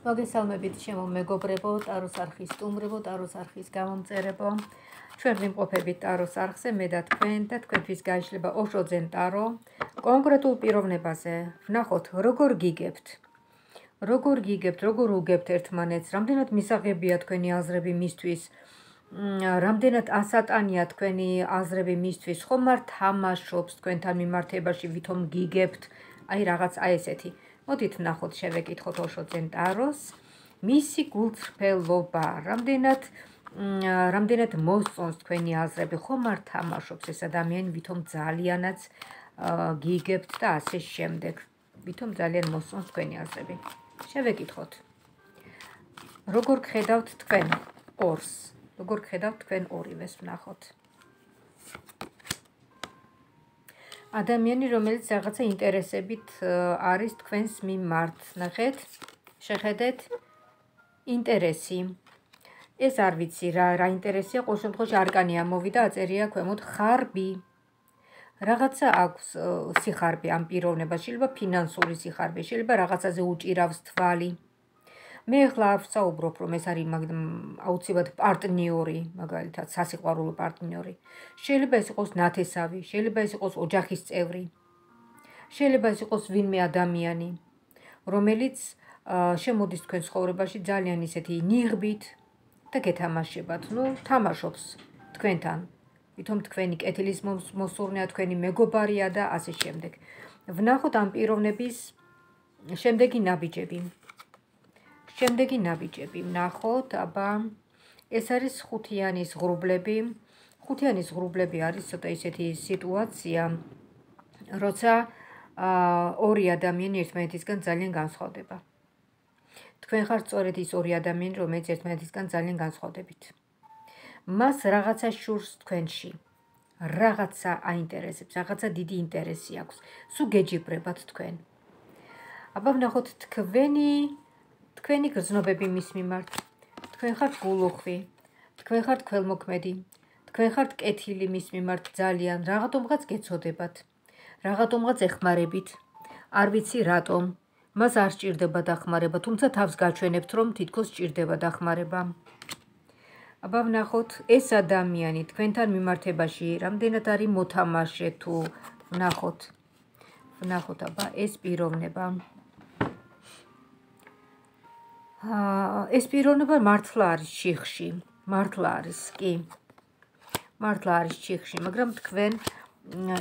მოგესალმებით ჩემო მეგობრებო, ტაროს არხის სტუმრებო, ტაროს არხის გამომწერებო. ჩვენ ვიმყოფებით ტაროს არხზე, მე და თქვენთვის გაიშლება ოშოძენ ტარო. კონკრეტულ პიროვნებაზე ვნახოთ, როგორ გიგებთ, როგორ უგებთ ერთმანეთს, რამდენად მისაღებია თქვენი აზრები მისთვის, რამდენად ასატანია თქვენი აზრები მისთვის, ხომ არ თამაშობს თქვენთან მიმართებაში, ვითომ გიგებთ, აი რაღაც აი ესეთი. მოდით ვნახოთ, შევეკითხოთ ოშოძენ ტაროს, მისი გულწრფელობა, რამდენად მოსწონს თქვენი აზრები, ხომ არ თამაშობს ეს ადამიანი, ვითომ ძალიანაც გიგებთ და ასე შემდეგ, ვითომ ძალიან მოსწონს თქვენი აზრები. შევეკითხოთ. როგორ გხედავთ თქვენ ორს? როგორ გხედავთ თქვენ ორივეს ვნახოთ. ადამიანი, რომელიც რაღაცა ინტერესებით არის თქვენს მიმართ. ნახეთ, შეხედეთ, ინტერესი. ეს არ ვიცი რა ინტერესია, ყოველ შემთხვევაში არკანი ამოვიდა, აწერია ქვემოთ ხარბი. რაღაცა აქვს სიხარბე ამ პიროვნებას, შეიძლება ფინანსური სიხარბე, შეიძლება რაღაცაზე უჭირავს თვალი. მე ახლა არ ვსაუბრობ, რომ ეს არის აუცილებლად პარტნიორი, მაგალითად, სასიყვარულო პარტნიორი. შეიძლება ეს იყოს ნათესავი, შეიძლება ეს იყოს ოჯახის წევრი. შეიძლება ეს იყოს ვინმე ადამიანი, რომელიც შემოდის თქვენ ცხოვრებაში ძალიან ისეთი ნიღბით და გეთამაშებათ. თამაშობს თქვენთან. ვითომ თქვენი კეთილის მოსურნეა, თქვენი მეგობარია და ასე შემდეგ. ვნახოთ ამ პიროვნების შემდეგი ნაბიჯები. ვნახოთ, აბა, ეს არის ხუთიანის ღრუბლები. ხუთიანის ღრუბლები არის ცოტა ისეთი სიტუაცია, როცა ორი ადამიანი ერთმანეთისგან ძალიან განსხვავდება. თქვენ ხართ სწორედ ის ორი ადამიანი, რომელიც ერთმანეთისგან ძალიან განსხვავდებით. მას რაღაცა შურს თქვენში, რაღაცა აინტერესებს, რაღაცა დიდი ინტერესი აქვს, სულ გეჯიბრებათ თქვენ. აბა ვნახოთ თქვენი გრძნობები მის მიმართ. თქვენ ხართ გულუხვი, თქვენ ხართ ქველმოქმედი, თქვენ ხართ კეთილი მის მიმართ ძალიან, რაღაცომღაც გეცოდებათ, რაღაცომღაც ეხმარებით, არ ვიცი რატომ, მას არ სჭირდება დახმარება, თუმცა თავს გაჩვენებთ, რომ თითქოს სჭირდება დახმარება. აბა ვნახოთ, ეს ადამიანი თქვენთან მიმართებაში რამდენად არის მოთამაშე თუ ვნახოთ, აბა, ეს პიროვნება. ეს პიროვნება მართლა არის ჩიხში, მართლა არის ჩიხში, მაგრამ თქვენ,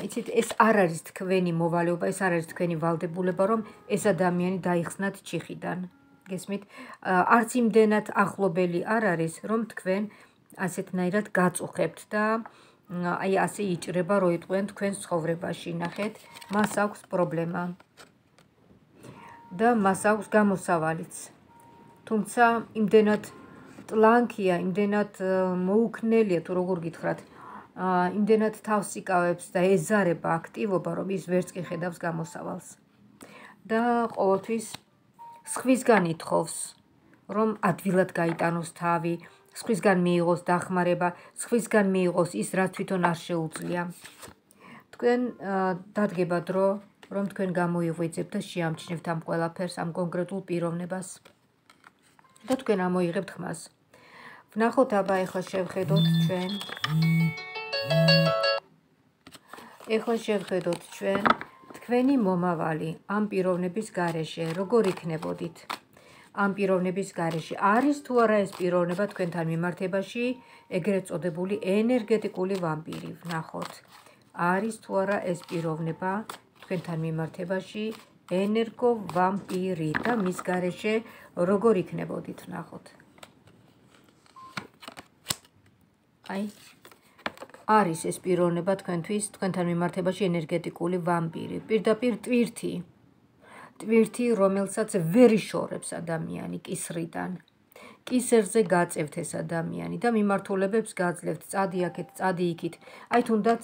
იცით, ეს არ არის თქვენი მოვალეობა, ეს არ არის თქვენი ვალდებულება, რომ ეს ადამიანი დაიხსნათ ჩიხიდან. გესმით? არც იმდენად ახლობელი არ არის, რომ თქვენ ასეთნაირად გაწუხებთ და აი ასე იჭრება, რო იტყვიან თქვენს ცხოვრებაში. ნახეთ, მას აქვს პრობლემა და მას აქვს გამოსავალიც. თუმცა იმდენად ტლანქია, იმდენად მოუქნელია, თუ როგორ გითხრათ, იმდენად თავს იკავებს და ეზარება აქტივობა, რომ ის ვერც კი ხედავს გამოსავალს. და ყოველთვის სხვისგან ითხოვს, რომ ადვილად გაიტანოს თავი, სხვისგან მიიღოს დახმარება, სხვისგან მიიღოს ის, რაც თვითონ არ შეუძლია. თქვენ დადგება დრო, რომ თქვენ გამოიღვიძებთ და შეამჩნევთ ამ ყველაფერს, ამ კონკრეტულ პიროვნებას. და თქვენ ამოიღებთ ხმას. ვნახოთ, აბა, ეხლა შევხედოთ ჩვენ თქვენი მომავალი ამ პიროვნების გარეშე, როგორ იქნებოდით? ამ პიროვნების გარეშე არის თუ არა ეს პიროვნება თქვენთან მიმართებაში, ეგრეთ წოდებული ენერგეტიკული ვამპირი. ვნახოთ, არის თუ არა ეს პიროვნება თქვენთან მიმართებაში, ენერგო ვამპირი და მის გარეშე როგორ იქნებოდით? ვნახოთ. აი, არის ეს პიროვნება თქვენთან მიმართებაში ენერგეტიკული ვამპირი. პირდაპირ ტვირთი, რომელსაც ვერ იშორებს ადამიანი კისრიდან. კისერზე გაწევთ ეს ადამიანი და მიმართულებებს გაძლევთ, წადი აქეთ, წადი იქით. აი, თუნდაც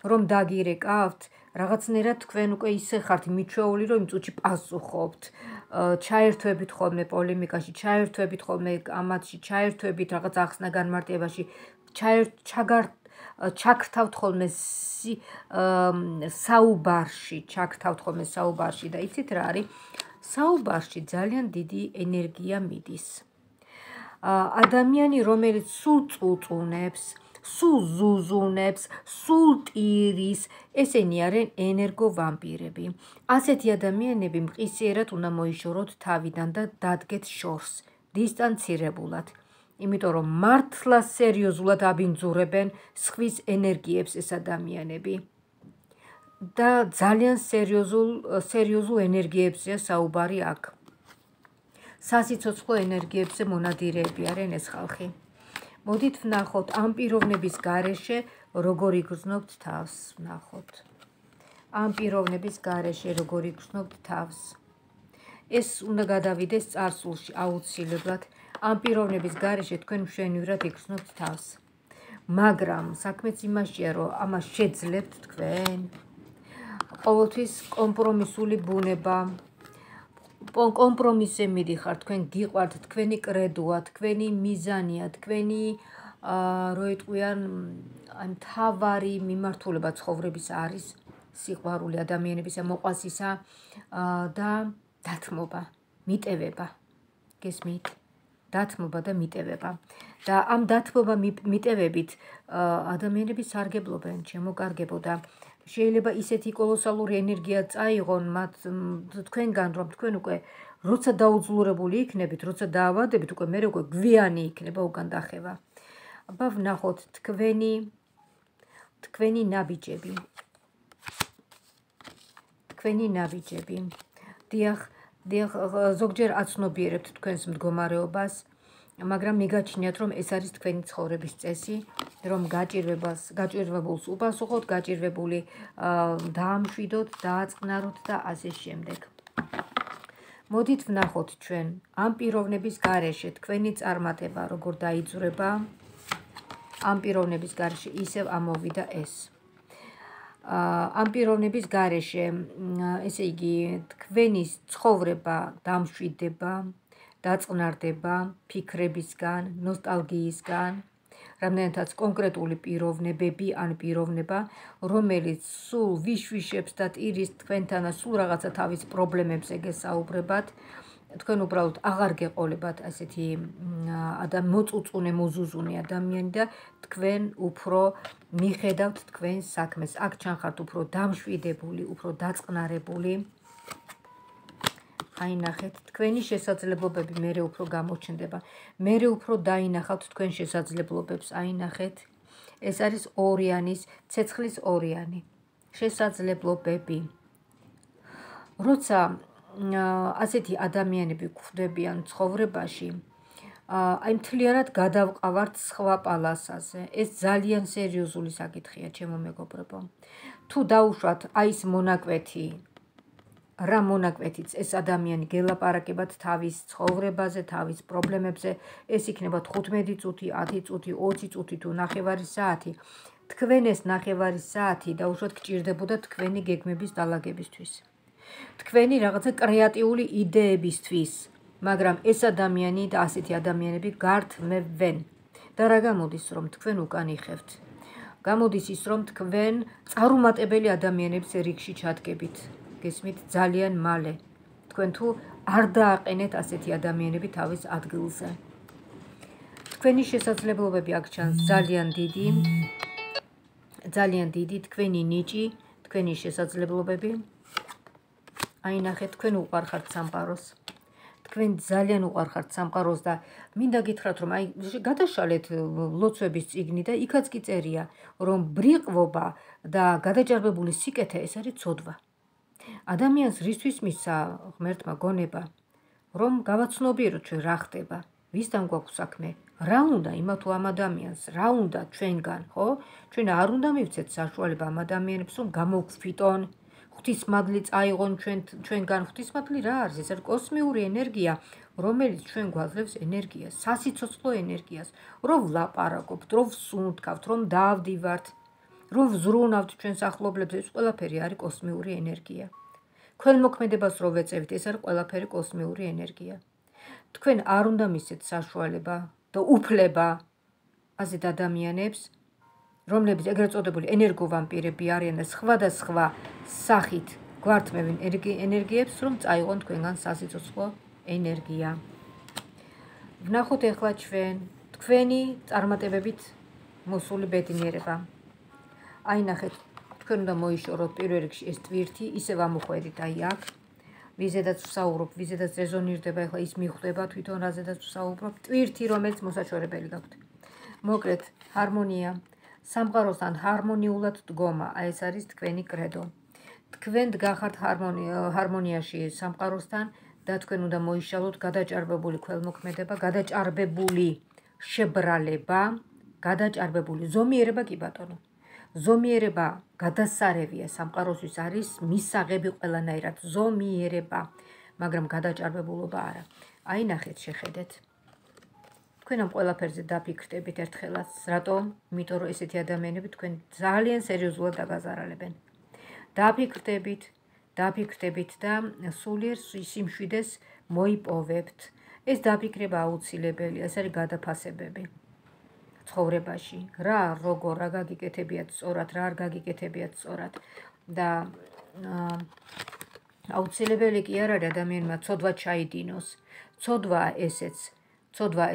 რომ დაგირეკავთ, რაღაცნაირად თქვენ უკვე ისე ხართ მიჩვეული, რომ იმ წუთში პასუხობთ. ჩაერთვებით ხოლმე პოლემიკაში, ჩაერთვებით ხოლმე ამათში, ჩაერთვებით რაღაც ახსნა განმარტებაში, ჩაგრთავთ ხოლმე საუბარში და იცით რა არის? საუბარში ძალიან დიდი ენერგია მიდის. ადამიანი, რომელიც სულ წუწუნებს, სულ ზუზუნებს, სულ ტირის, ესენი არიან ენერგოვამპირები. ასეთი ადამიანები მყისიერად უნდა მოიშოროთ თავიდან და დადგეთ შორს, დისტანცირებულად. იმიტომ რომ მართლა სერიოზულად აბინძურებენ სხვის ენერგიებს ეს ადამიანები. და ძალიან სერიოზულ ენერგიებზეა საუბარი აქ. სასიცოცხლო ენერგიებზე მონადირეები არიან ეს ხალხი. მოდით ვნახოთ ამ პიროვნების გარეშე როგორ იგრძნობთ თავს. ვნახოთ. ამ პიროვნების გარეშე როგორ იგრძნობთ თავს. ეს უნდა გადავიდეს წარსულში აუცილებლად. ამ პიროვნების გარეშე თქვენ მშვენივრად იგრძნობთ თავს. მაგრამ საქმეც იმაშია, რომ ამას შეძლებთ თქვენ. ყოველთვის კომპრომისული ბუნება. კომპრომისზე მიდიხართ, თქვენ გიყვართ, თქვენი კრედოა, თქვენი მიზანია, თქვენი რო იტყვიან მთავარი მიმართულება ცხოვრების არის სიყვარული ადამიანებისა, მოყვასისა და დათმობა, მიტევება. გესმით? დათმობა და მიტევება. და ამ დათმობა მიტევებით ადამიანები სარგებლობენ, შემოკარგებო და შეიძლება ისეთი კოლოსალური ენერგია წაიღონ მათ თქვენგან, რომ თქვენ უკვე როცა დაუძლურებული იქნებით, როცა დაავადებით, უკვე მე უკვე გვიანი იქნება უკან დახევა. აბა ვნახოთ თქვენი ნაბიჯები. თქვენი ნაბიჯები. დიახ, ზოგჯერ აცნობიერებთ თქვენს მდგომარეობას, მაგრამ მიგაჩნიათ, რომ ეს არის თქვენი ცხოვრების წესი, რომ გაჭირვებულს უპასუხოთ, გაჭირვებული დაამშვიდოთ, დააწყნაროთ და ასე შემდეგ. მოდით ვნახოთ ჩვენ ამ პიროვნების გარეშე თქვენი წარმატება როგორ დაიძვრება. ამ პიროვნების გარეშე ისევ ამოვიდა ეს. ამ პიროვნების გარეშე, ესე იგი, თქვენი ცხოვრება დამშვიდდება, დაწყნარდება ფიქრებისგან, ნოსტალგიისგან, რამდენადაც კონკრეტული პიროვნებები ან პიროვნება, რომელიც სულ ვიშვიშებს და ტირის თქვენთან და სულ რაღაცა თავის პრობლემებზე გესაუბრებათ, თქვენ უბრალოდ აღარ გეყოლებათ ასეთი მოწუწუნე, მოზუზუნე ადამიანი და თქვენ უფრო მიხედავთ თქვენს საქმეს. აქ ჩანხართ უფრო დამშვიდებული, უფრო დაწყნარებული. აი ნახეთ, თქვენი შესაძლებლობები მერე უფრო გამოჩნდება. მერე უფრო დაინახავთ თქვენ შესაძლებლობებს. აი ნახეთ, ეს არის ორიანის, ცეცხლის ორიანი. შესაძლებლობები. როცა ასეთი ადამიანები გვხვდებიან ცხოვრებაში, აი მთლიანად გადავყავართ სხვა პალასაზე. ეს ძალიან სერიოზული საკითხია, ჩემო მეგობრებო. თუ დაუშვათ აი ეს მონაკვეთი, რა მონაკვეთიც ეს ადამიანი გელაპარაკებათ თავის ცხოვრებაზე, თავის პრობლემებზე, ეს იქნება 15 წუთი, 10 წუთი, 20 წუთი თუ ნახევარი საათი. თქვენ ეს ნახევარი საათი დაუშვათ გჭირდებოდა თქვენი გეგმების დალაგებისთვის. თქვენი რაღაცა კრეატიული იდეებისთვის, მაგრამ ეს ადამიანი და ასეთი ადამიანები გართმევენ. და რა გამოდის, რომ თქვენ უკან იხევთ? გამოდის ის, რომ თქვენ წარუმატებელი ადამიანების რიგში ჩადგებით. გესმით, ძალიან მალე. თქვენ თუ არ დააყენეთ ასეთი ადამიანები თავის ადგილზე. თქვენი შესაძლებლობები აქ ჩანს ძალიან დიდი თქვენი ნიჭი, თქვენი შესაძლებლობები. აი ნახეთ, თქვენ უყარხართ სამყაროს. თქვენ ძალიან უყარხართ სამყაროს და მინდა გითხრათ, რომ აი გადაშალეთ ლოცვების წიგნი და იქაც კი წერია, რომ ბრიყვობა და გადაჭარბებული სიკეთე ეს არის ცოდვა. ადამიანს რისთვის მისცა ღმერთმა გონება, რომ გავაცნობიეროთ ჩვენ რა ხდება, ვისთან გვაქვს საქმე, რა უნდა იმათ თუ ამ ადამიანს, რა უნდა ჩვენგან, ხო? ჩვენ არ უნდა მივცეთ საშუალება ამ ადამიანებს, რომ გამოვგვფიტონ, ღვთისმადლი წაიღონ ჩვენგან. ღვთისმადლი რა არის? ეს არის კოსმიური ენერგია, რომელიც ჩვენ გვაძლევს ენერგიას, სასიცოცხლო ენერგიას, რომ ვლაპარაკობთ, რომ ვსუნთქავთ, რომ დავდივართ, რომ ვზრუნავთ ჩვენს ახლობლებს, ეს ყველაფერი არის კოსმიური ენერგია. ქველმოქმედებას რო ვეწევით, ეს არის ყველაფერი კოსმიური ენერგია. თქვენ არ უნდა მისცეთ საშუალება და უფლება ასეთ ადამიანებს, რომლებიც ეგრეთ წოდებული ენერგოვამპირები არიან და სხვადასხვა სახით გვართმევენ ენერგიებს, რომ წაიღონ თქვენგან სასიცოცხლო ენერგია. ვნახოთ ახლა ჩვენ თქვენი წარმატებებით მოსული ბედნიერება. აი ნახეთ, თქვენ უნდა მოიშოროთ პირველ რიგში ეს ტვირთი, ისევ ამოხვედით აი აქ. ვიზედაც ვსაუბრობ, ვიზედაც რეზონირდება, ახლა ის მიხვდება თვითონ რაზედაც ვსაუბრობ, ტვირთი, რომელიც მოსაჩვენებელი გაქვთ. მოკლედ, ჰარმონია, სამყაროსთან ჰარმონიულად დგომა, აი ეს არის თქვენი კრედო. თქვენ დგახართ ჰარმონიაში სამყაროსთან და თქვენ უნდა მოიშალოთ გადაჭარბებული ქველმოქმედება, გადაჭარბებული შებრალება, გადაჭარბებული ზომიერება კი ბატონო. ზომიერება გადასარევია სამყაროსთვის არის მისაღები ყველანაირად ზომიერება, მაგრამ გადაჭარბებულობა არა. აი ნახეთ, შეხედეთ. თქვენ ამ ყველაფერზე დაფიქრდებით ერთხელაც, რატომ? იმიტომ რომ ესეთი ადამიანები თქვენ ძალიან სერიოზულად დაგაზარალებენ. დაფიქრდებით და სულიერ სიმშვიდეს მოიპოვებთ. ეს დაფიქრება აუცილებელია, ეს არის გადაფასებები ცხოვრებაში. რა გაგიკეთებიათ სწორად, რა არ გაგიკეთებიათ სწორად და აუცილებელი კი არ არის ადამიანმა ცოდვა ჩაიდინოს. ცოდვა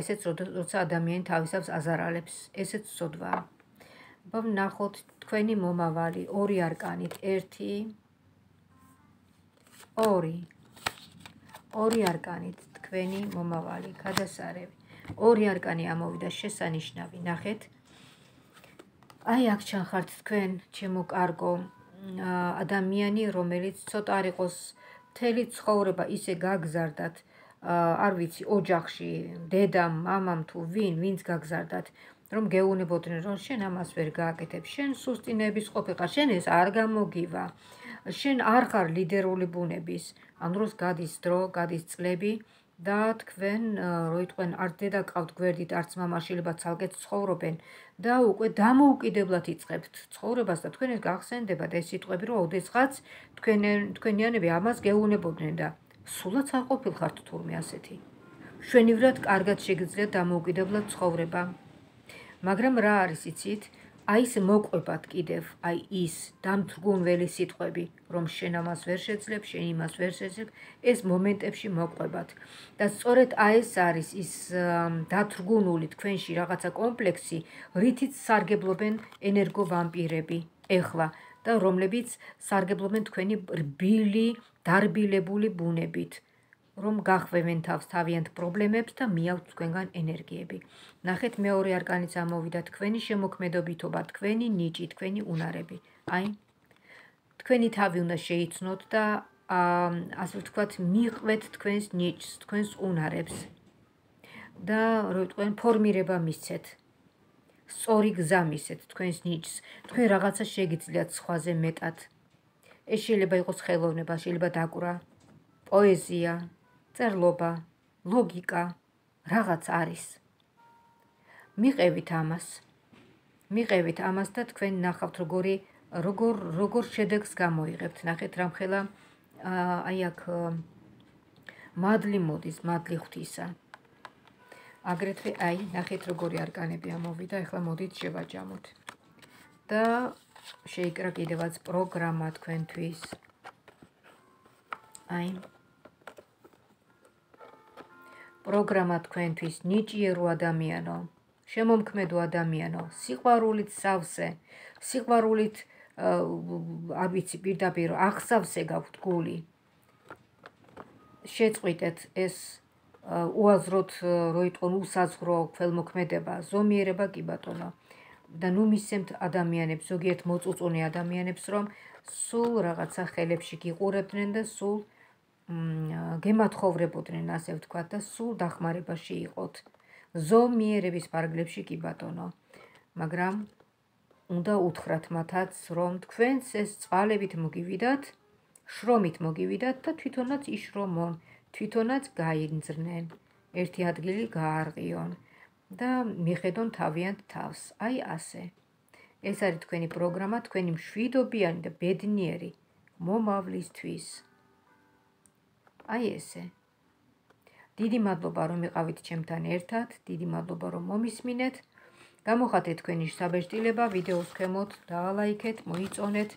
ესეც, როცა ადამიანი თავისავს აზარალებს, ესეც ცოდვაა. ვნახოთ თქვენი მომავალი ორი არკანით, 1, 2. ორი არკანით თქვენი მომავალი, გადასარევი. ორი არკანი ამოვიდა შესანიშნავი, ნახეთ. აი აქ ჩანხართ თქვენ, ჩემო კარგო, ადამიანი, რომელიც ცოტა არ იყოს მთელი ცხოვრება ისე გაგზარდათ, არ ვიცი, ოჯახში, დედამ, მამამ თუ ვინც გაგზარდათ, რომ გეუბნებოდნენ, რომ შენ ამას ვერ გააკეთებ, შენ სუსტი ნებისყოფი ხარ, შენ ეს არ გამოგივა, შენ არ ხარ ლიდერული ბუნების, ამ დროს გადის დრო, გადის წლები და თქვენ რო იტყვენ არც დედა ყავთ გვერდით, არც მამა შვილებად ცალკე ცხოვრობენ და უკვე დამოუკიდებლად იწყებთ ცხოვრებას და თქვენ ეს გახსენდებათ ეს სიტყვები, რომ ოდესღაც თქვენიანები ამას გეუბნებოდნენ და სულაც არ ყოფილხართ თურმე ასეთი. შვენივრად კარგად შეგიძლიათ დამოუკიდებლად ცხოვრება. მაგრამ რა არის იცით? აი ეს მოყვებათ კიდევ, აი ის დამთრგუნველი სიტყვები, რომ შენ ამას ვერ შეძლებ, შენ იმას ვერ შეძლებ, ეს მომენტებში მოყვებათ. და სწორედ აი ეს არის ის დათრგუნული თქვენში რაღაცა კომპლექსი, რითიც სარგებლობენ ენერგოვამპირები ეხლა და რომლებიც სარგებლობენ თქვენი რბილი, დარბილებული ბუნებით. რომ გახვევენ თავს თავიანთ პრობლემებს და მიაქვთ თქვენგან ენერგიები. ნახეთ, მეორე არკანიც ამოვიდა თქვენი შემოქმედობითობა, თქვენი ნიჭი, თქვენი უნარები. აი, თქვენი თავი უნდა შეიცნოთ და ასე ვთქვათ, მიყვეთ თქვენს ნიჭს, თქვენს უნარებს და რო თქვენ ფორმირება მისცეთ. სწორი გზა მისცეთ თქვენს ნიჭს. თქვენ რაღაცა შეგიძლიათ სხვაზე მეტად. ეს შეიძლება იყოს ხელოვნება, შეიძლება დაკვრა, პოეზია, წერლობა, ლოგიკა, რაღაც არის. მიყევით ამას და თქვენ ნახავთ როგორ შედეგს გამოიღებთ. ნახეთ რამხელა აი აქ მადლი მოდის, მადლი ღვთისა. აგრეთვე აი ნახეთ როგორი არკანები ამოვიდა, ახლა მოდით შევაჯამოთ. და შეიკრა კიდევაც პროგრამა თქვენთვის. აი პროგრამა თქვენთვის ნიჭიერო ადამიანო, შემომქმედო ადამიანო, სიყვარულით სავსე, სიყვარულით არ ვიცი პირდაპირ აღსავსე გაქვთ გული. შეწყვიტეთ ეს უაზროდ რო იტყვენ უსაზღვრო ქველმოქმედება, ზომიერება კი ბატონო. და ნუ მისცემთ ადამიანებს, ზოგიერთ მოწუწუნე ადამიანებს, რომ სულ რაღაცა ხელებში გიყურებდნენ და სულ გემათხოვრებოდნენ, ასე ვთქვათ, და სულ დახმარებაში იყოთ. ზომიერების ფარგლებში კი ბატონო. მაგრამ უნდა უთხრათ მათაც, რომ თქვენს ეს წყალებით მოგივიდათ, შრომით მოგივიდათ და თვითონაც იშრომონ, თვითონაც გაინძრნენ, ერთი ადგილი გაარღიონ და მიხედონ თავიანთ თავს. აი ასე. ეს არის თქვენი პროგრამა, თქვენი მშვიდობიანი და ბედნიერი მომავლისთვის. აი ესე. დიდი მადლობა რომ იყავით ჩემთან ერთად, დიდი მადლობა რომ მომისმინეთ. გამოხატეთ თქვენი საბეჭდილება, ვიდეოს ქვემოთ დაალაიქეთ, მოიწონეთ.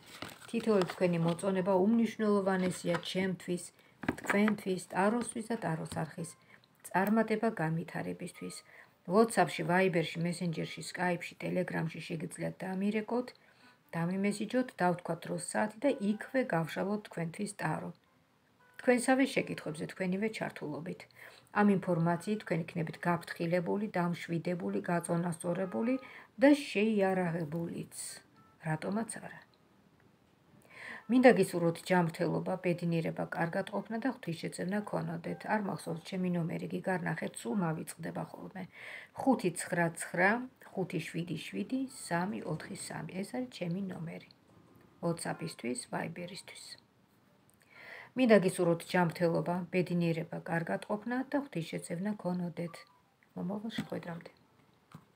თითოეული თქვენი მოწონება უმნიშვნელოვანესია ჩემთვის, თქვენთვის, ტაროსთვის და ტაროს არხის წარმატება განვითარებისთვის. WhatsApp-ში, Viber-ში, Messenger-ში, Skype-ში, Telegram-ში შეგიძლიათ დამირეკოთ, დამიმესიჯოთ, დავთქვათ დროს საათი და იქვე გავშალოთ თქვენთვის ტარო. თქვენსავე შეკითხვებზე თქვენივე ჩართულობით. ამ ინფორმაციით თქვენ იქნებით გაფრთხილებული, დამშვიდებული, გაწონასწორებული და შეიარაღებულიც. რატომაც არა. მინდა გისურვოთ ჯანმრთელობა, ბედნიერება, კარგად ყოფნა და ღვთისშეწევნა გქონოდეთ. არ მახსოვს ჩემი ნომერი გიგარნახეთ, სულ მავიწყდება ხოლმე. 599 577 343. ეს არის ჩემი ნომერი. WhatsApp-ისთვის, Viber-ისთვის. მინდა გისურვოთ ჯანმრთელობა, ბედნიერება, კარგად ყოფნა და ღვთისშეწევნა გქონოდეთ. მომავალ შეხვედრამდე.